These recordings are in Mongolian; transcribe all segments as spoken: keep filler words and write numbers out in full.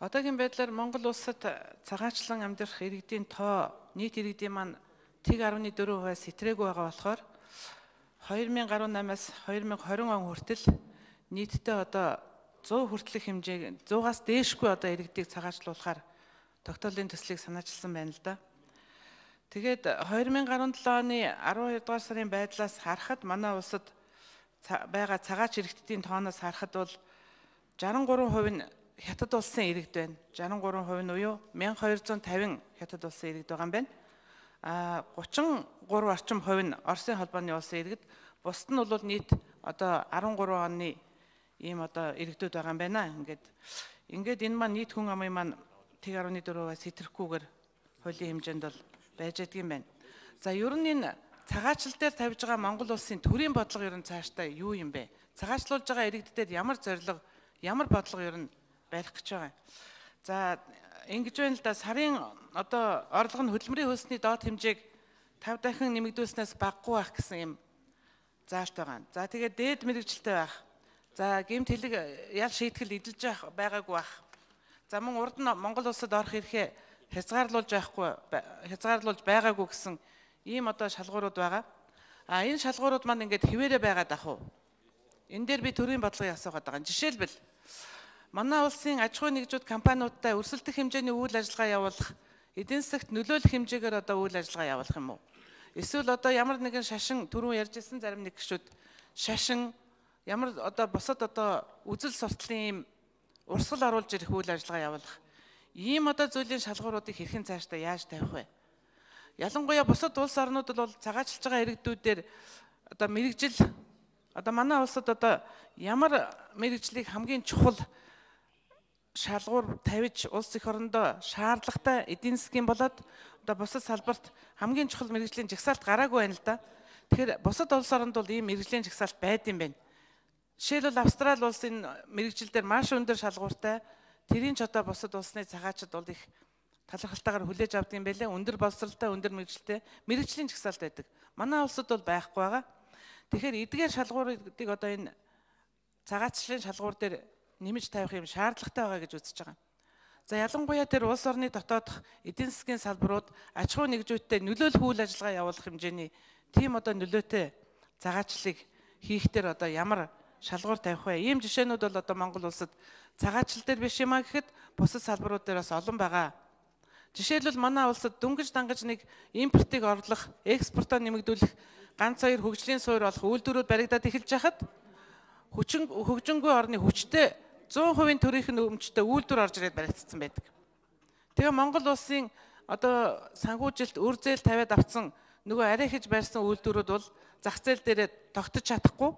Одоогийн байдлаар Монгол улсад цагаачлан амьдрах иргэдийн тоо нийт иргэдийн маань тэг арван дөрвөн хувиас сэтрээгүй байгаа болохоор хоёр мың гаруй намаас хоёр мың хорин он хүртэл нийтдээ одоо зуун хүртэлх хэмжээ зуугаас дээшгүй одоо иргэдийг цагаачлуулахаар тогтоолын төслийг санаачилсан байна л да. Тэгээд хоёр мың гаруй седем оны арван хоёр дугаар сарын байдлаас харахад манай улсад байгаа цагаач иргэдийн тооноос харахад бол шестьдесят три хувь нь хятад улсын иргэд байна. шестьдесят три хувь нь уюу мянга хоёр зуун тавин хятад улсын иргэд байгаа юм байна. А гучин гурав орчим хувь нь Оросын холбооны улсын иргэд, бусд нь бол нийт одоо арван гурван оны ийм одоо иргэдүүд байгаа юм байна. Ингээд ингээд энэ маань нийт хүн амын маань тэг арван дөрвөөс хэтрэхгүйгээр хуулийн хэмжээнд бол байж байдаг юм байна. За ер нь энэ цагаачлал дээр тавьж байгаа Монгол улсын төрийн бодлого ер нь цаашдаа юу юм бэ? Цагаачлуулж байгаа иргэддээр ямар зорилго, ямар бодлого ер нь барих гэж байгаа. За ингэж байна л да, сарын одоо орлого нь хөдөлмөрийн хөлсний доод хэмжээг тавь дахин нэмэгдүүлснээс багагүй байх гэсэн юм заалт байгаа. За тэгээд дээд мэрэгжилтэй байх. За гэмт хэлэг ял шийтгэл эдэлж байгаагүй байх. За мөн урд нь Монгол улсад орох эрхээ хязгаарлуулж байхгүй хязгаарлуулж байгаагүй гэсэн ийм одоо шалгуурууд байгаа. А энэ шалгуурууд маань ингээд хിവэрэ байгаад ах уу? Энэ дээр би төрийн бодлогыг асуугаад байгаа. Жишээлбэл манай улсын аж ахуй нэгжүүд компаниудтай өрсөлдөх хэмжээний үйл ажиллагаа явуулах, эдийн засагт нөлөөлөх хэмжээгээр одоо үйл ажиллагаа явуулах юм уу? Эсвэл одоо ямар нэгэн шашин түрүүн ярьжсэн зарим нэг гишүүд шашин ямар одоо бусад одоо үзэл сурталын ийм урсгал оруулж ирэх үйл ажиллагаа явуулах. Ийм одоо зүйлийн шалгууруудыг хэрхэн цаашдаа яаж тавих вэ? Ялангуяа бусад улс орнууд бол цагаачлж байгаа иргэдүүдээр одоо мэрэгжил одоо манай улсад одоо ямар мэрэгжлийг хамгийн чухал шалгуур тавьж улс эх орондоо шаардлагатай эдийн засгийн болоод одоо бусад салбарт хамгийн чухал мэрэгжлийн жагсаалт гараагүй байна л да. Тэгэхээр бусад улс оронд бол ийм мэрэгжлийн жагсаалт байд юм байна. Жишээлбэл Австрали улсын мэрэгжил дээр маш өндөр шалгууртай, тэрийн ч одоо бусад улсны цагаачд бол их талархалтайгаар хүлээж авдаг юм байлээ. Өндөр боловсралтай, өндөр мэрэгжилтэй мэрэгжлийн жагсаалт байдаг. Манай улсад бол байхгүй байгаа. Тэгэхээр эдгээр шалгуурыг одоо энэ цагаачлалын шалгуур дээр нэмж тавих юм шаардлагатай байгаа гэж үзэж байгаа. За ялангуяа тэр улс орны дотоодох эдийн засгийн салбарууд аж ахуй нэгжүүдтэй нөлөөлөх үйл ажиллагаа явуулах хэмжээний тийм одоо нөлөөтэй цагаачлалыг хийхдээ одоо ямар шалгуур тавих вэ? Ийм жишээнүүд бол одоо Монгол улсад цагаачлал дээр биш юм а гэхэд бусад салбарууд дээр бас олон байгаа. Жишээлбэл манай улсад дөнгөж дангаж нэг импортыг орлох, экспортоо нэмэгдүүлэх, ганц хоёр хөгжлийн суурь олох үйлдвэрүүд баригдаад эхэлж байхад хүчин хөгжингүй орны хүчтэй зуун хувийн төрийнх нь өмчтэй үйлдвэр орж ирээд баригдсан байдаг. Тэгээ Монгол улсын одоо санхүүжилт үр зээл тавиад авсан нөгөө арай хийж барьсан үйлдвэрүүд бол зах зээл дээрээ тогтож чадахгүй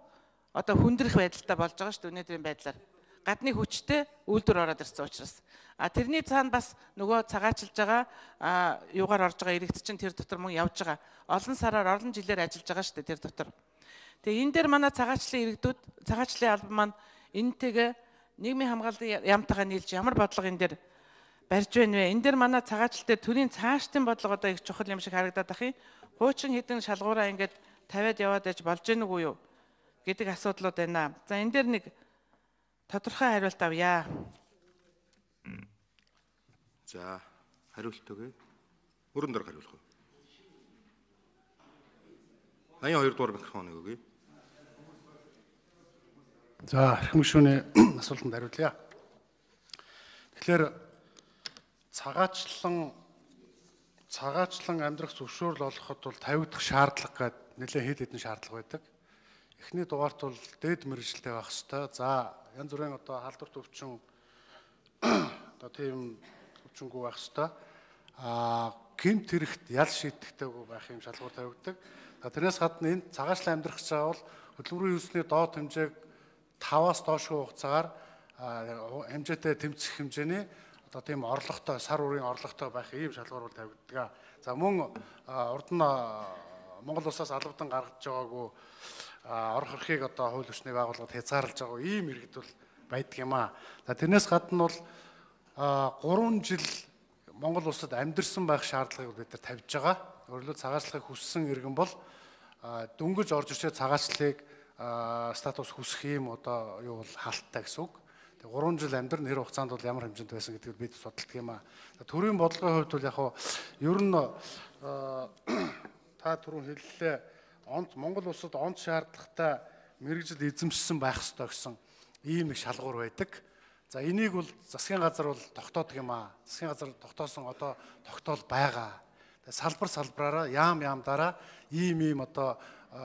одоо хүндрэх байдалтай болж байгаа шүү дээ өнөөдрийн байдлаар. Гадны хүчтэй үйлдвэр ороод ирсэн учраас. А тэрний цаана бас нөгөө цагаачлж байгаа юугаар орж байгаа иргэд чинь тэр дотор мөн явж байгаа. Олон сараар олон жилээр ажиллаж байгаа шүү дээ тэр дотор. Тэгээ энэ дээр манай цагаачлалын иргэдүүд, цагаачлалын албан маань энэтэйгээ нийгмийн хамгааллын яамтайгаа нийлж ямар бодлого энэ дээр барьж байна вэ? Энэ дээр манай цагаачлал дээр төрийн цаашдын бодлого одоо их чухал юм шиг харагдаад ах юм. Хуучин хэдэн шалгуураа ингээд тавиад яваад яж болж гэнэ үгүй юу гэдэг асуудлууд байна. За энэ дээр нэг тодорхой хариулт авъя. За хариулт өгье. Өрөн дор хариулах уу? Аян хоёр дугаар микрофоныг өгье. За архим гишүүний асуултанд хариулъя. Тэгэхээр цагаачлан цагаачлан амьдрах зөвшөөрөл олоход бол тавигдах шаардлага гэдэг нэлээд хэд хэдэн шаардлага байдаг. Эхний дугаарт бол дээд мэрэгжилтэй байх ёстой. За янз бүрийн одоо халдвар төвчин одоо тийм төвчнгүү байх ёстой. А гэмт хэрэгт ял шийтгэхтэйг байх юм шалгуур тавигддаг. Тэрнээс гадна энэ цагаачлан амьдрах гэж байгаа бол хөдөлмөрийн хөлсний доод хэмжээг таваас доошгүй хугацаагаар хэмжээтэй тэмцэх хэмжээний одоо тийм орлоготой, сар үрийн орлоготой байх ийм шалгуур тавигддаг. За мөн урд нь Монгол улсаас албадан гаргаж байгаагүй орох эрхийг одоо хууль ёсны байгууллагад хязгаарлаж байгаа ийм иргэд бол байдаг юм аа. За тэрнээс гадна бол гурван жил Монгол улсад амьдэрсэн байх шаардлагыг бид нар тавьж байгаа. Өөрөлдөө цагаачлахыг хүссэн иргэн бол дөнгөж орж ирчээ цагаачлалыг статус хүсэх юм одоо юу бол хаалттай гэсэн үг. гурван жил амьдрын хэр хугацаанд бол ямар хэмжээнд байсан гэдгийг бид судалдаг юм аа. Төрийн бодлогын хувьд бол яг ер нь та түрүүн хэллээ онц Монгол улсад онц шаардлагатай мэрэгжил эзэмшсэн байх ёстой гэсэн ийм их шалгуур байдаг. За энийг бол засгийн газар бол тогтоодог юм аа. Засгийн газар тогтоосон одоо тогтоол байгаа. Салбар салбараараа яам яамдаараа ийм ийм одоо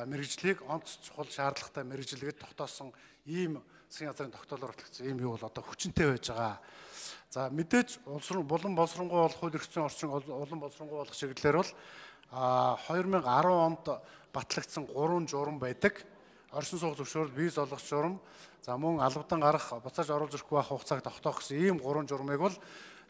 мэрэгжлийг онц чухал шаардлагатай мэрэгжлэгэд тогтоосон ийм засгийн газрын тогтоолоор батлагдсан ийм юу бол одоо хүчинтэй байж байгаа. За мэдээж улам боловсронгуй болох хууль эрх зүйн орчин улам боловсронгуй болох чиглэлээр бол хоёр мянга арван онд батлагдсан гурван журам байдаг. Оршин суух зөвшөөрөл, виз олгох журам, за мөн албадан гарах, буцааж оруулж ирэхгүй байх хугацааг тогтоох гэсэн ийм гурван журмыг бол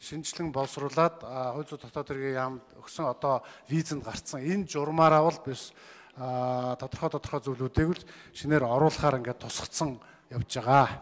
шинжилэн боловсруулад хууль зүйн дотоод хэргийн яамд өгсөн одоо визэнд гарцсан энэ журмаараа бол биш тодорхой тодорхой зүйлүүдийг л шинээр оруулахаар ингээд тусгацсан явж байгаа.